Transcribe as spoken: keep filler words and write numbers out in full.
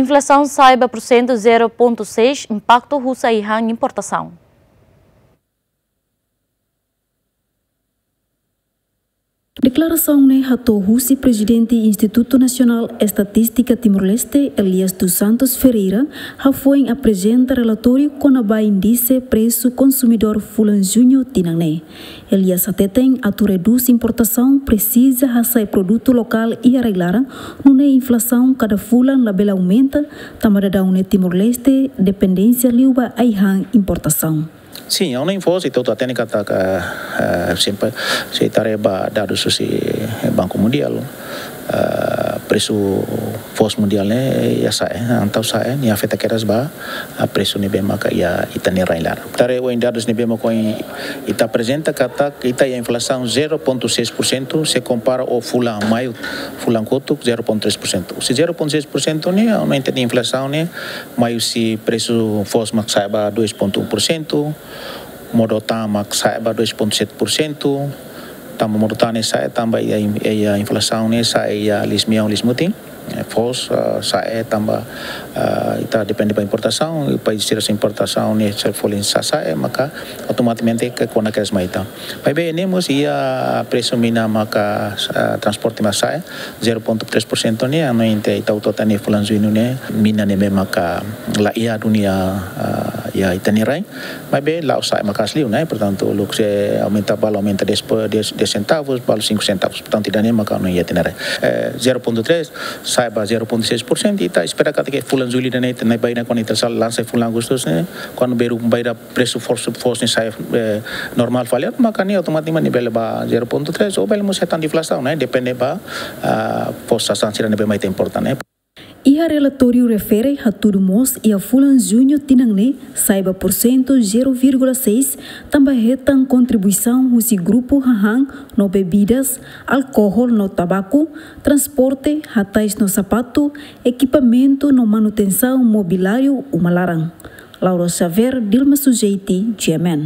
Inflasaun sa'e ba porsentu zero pontu seis, impaktu husi ai-han importasaun. Deklarasaun ne'e hato'o husi Prezidente Institutu Nasionál Estatístika Timor-Leste, Elias dos Santos Ferreira, hafoin aprezenta relatóriu kona-ba índise presu konsumidór fulan Juñu tinan ne'e. Elias hateten atu redús importasaun presiza hasa'e produtu lokál iha rai-laran, nune'e inflasaun kada fulan labele aumenta, tanba daudaun ne'e Timor-Leste dependénsia liu ba ai-han importasaun. Sin, ha'u hanoin foos, ita hotu hatene katak, eh, sempre, se ita haree ba dadus husi Banku Mundiál, eh, presu foos mundiál ne'e iha sa'e, entaun sa'e, nia afeta kedas ba, eh, presu ne'ebé maka iha ita-nia rai-laran. Ita haree ohin dadus ne'ebé maka ohin ita aprezenta katak ita iha inflasaun zero pontu seis por cento, se kompara ho fulan maiu, fulan kotuk zero pontu três por cento. Se zero pontu seis por cento ne'e, aumenta de inflasaun ne'e, maiu husi presu foos mak sa'e ba dois pontu um por cento, modo tan mak sa'e ba dois pontu sete por cento, tanba modo tan ne'e sa'e, tanba iha, iha inflasaun ne'e sa'e iha liis-mean, liis-mutin. Eh, foos, ah, sa'e tanba, ah, ita depende ba importasaun, i país sira-nia importasaun ne'e se folin sa'e, maka automatikamente ke kona kedas mai ita. Maibé ne'e mós iha presu mina maka, ah, transporte mak sa'e, zero pontu três por cento ne'e, ha'u hanoin ita hotu hatene fulan Juñu ne'e, mina ne'ebé maka la iha duni iha, ah, iha ita-nia rai. Maibé la'ós sa'e maka'as liu, ne'e? Portantu, luk se aumenta, balu aumenta dez po-, dez, dez centavos, balu cinco centavos. Portantu, ida-ne'e maka ha'u hanoin iha ita-nia rai. Eh, zero pontu três, sa'e ba zero pontu seis por cento, ita espera katak fulan Jullu ida-ne'e, ita-nia bainhira kuandu ita sei lansa fulan Agostu ne'e, kuandu bainhira, bainhira presu foos, foos ne'e sa'e, eh, normál fali, maka ne'e automatikamente bele ba zero pontu três, ou bele mós hetan deflasaun, ne'e? Depende ba, ah, foos sasán sira ne'ebé mak ita importa, ne'e? Iha relatóriu refere hatudu mós iha fulan Juñu tinan ne'e sa'e ba porsentu zero vírgula seis, tanba hetan kontribuisaun husi grupu hahán no bebidas, alkohol no tabaku, transporte, hatais no sapatu, ekipamentu no manutensaun mobiliáriu uma laran. Laura Xavier, Dilma Sujeiti, G M N.